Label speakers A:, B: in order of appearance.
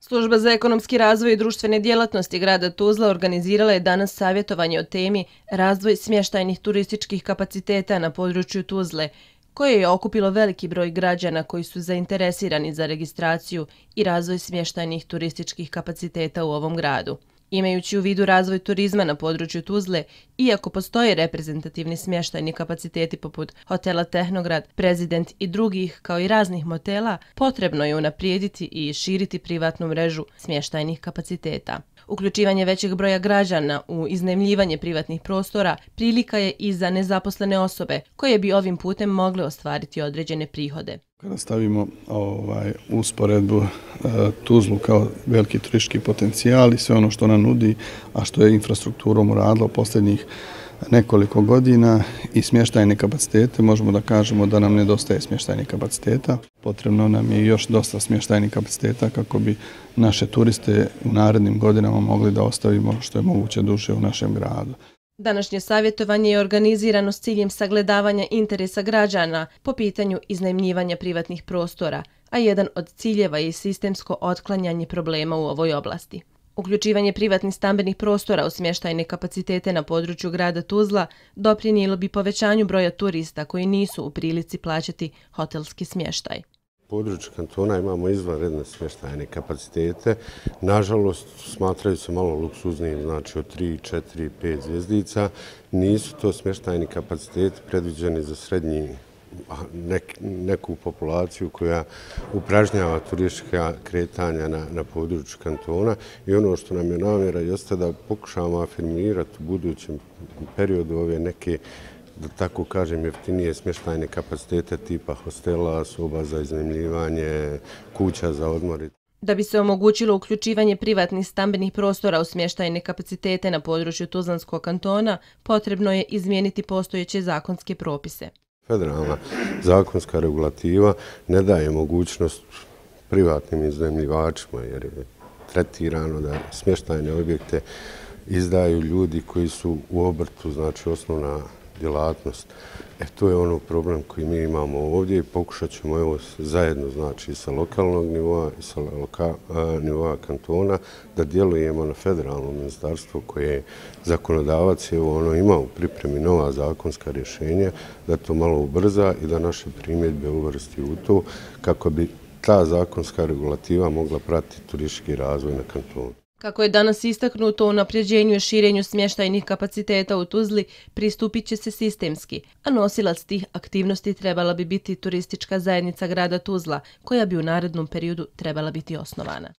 A: Služba za ekonomski razvoj i društvene djelatnosti grada Tuzla organizirala je danas savjetovanje o temi razvoj smještajnih turističkih kapaciteta na području Tuzle, koje je okupilo veliki broj građana koji su zainteresirani za registraciju i razvoj smještajnih turističkih kapaciteta u ovom gradu. Imajući u vidu razvoj turizma na području Tuzle, iako postoje reprezentativni smještajni kapaciteti poput hotela Tehnograd, Prezident i drugih, kao i raznih motela, potrebno je unaprijediti i širiti privatnu mrežu smještajnih kapaciteta. Uključivanje većeg broja građana u iznajmljivanje privatnih prostora prilika je i za nezaposlene osobe koje bi ovim putem mogle ostvariti određene prihode.
B: Kada stavimo usporedbu Tuzlu kao veliki turistički potencijal i sve ono što nam nudi, a što je infrastrukturom uradilo posljednjih nekoliko godina i smještajne kapacitete, možemo da kažemo da nam nedostaje smještajnih kapaciteta. Potrebno nam je još dosta smještajnih kapaciteta kako bi naše turiste u narednim godinama mogli da ostavimo što je moguće duže u našem gradu.
A: Današnje savjetovanje je organizirano s ciljem sagledavanja interesa građana po pitanju iznajmljivanja privatnih prostora, a jedan od ciljeva je sistemsko otklanjanje problema u ovoj oblasti. Uključivanje privatnih stambenih prostora u smještajne kapacitete na području grada Tuzla doprinijelo bi povećanju broja turista koji nisu u prilici plaćati hotelski smještaj.
C: U području kantona imamo izvanredne smještajne kapacitete. Nažalost, smatraju se malo luksuznim, znači od 3, 4, 5 zvjezdica. Nisu to smještajni kapaciteti predviđeni za srednji neku populaciju koja upražnjava turistička kretanja na području kantona i ono što nam je namjera jeste da pokušamo afirmirati u budućem periodu ove neke, da tako kažem, jeftinije smještajne kapacitete tipa hostela, soba za iznajmljivanje, kuća za odmor.
A: Da bi se omogućilo uključivanje privatnih stambenih prostora u smještajne kapacitete na području Tuzlanskog kantona, potrebno je izmijeniti postojeće zakonske propise.
C: Federalna zakonska regulativa ne daje mogućnost privatnim iznajmljivačima jer je tretirano da smještajne objekte izdaju ljudi koji su u obrtu, znači osnovna djelatnost. To je ono problem koji mi imamo ovdje i pokušat ćemo zajedno, znači sa lokalnog nivoa i sa nivoa kantona da djelujemo na federalno ministarstvo koje je zakonodavac i ono ima u pripremi nova zakonska rješenja da to malo ubrza i da naše primjedbe uvrsti u to kako bi ta zakonska regulativa mogla pratiti turistički razvoj na kantonu.
A: Kako je danas istaknuto, u unapređenju i širenju smještajnih kapaciteta u Tuzli pristupit će se sistemski, a nosilac tih aktivnosti trebala bi biti turistička zajednica grada Tuzla, koja bi u narednom periodu trebala biti osnovana.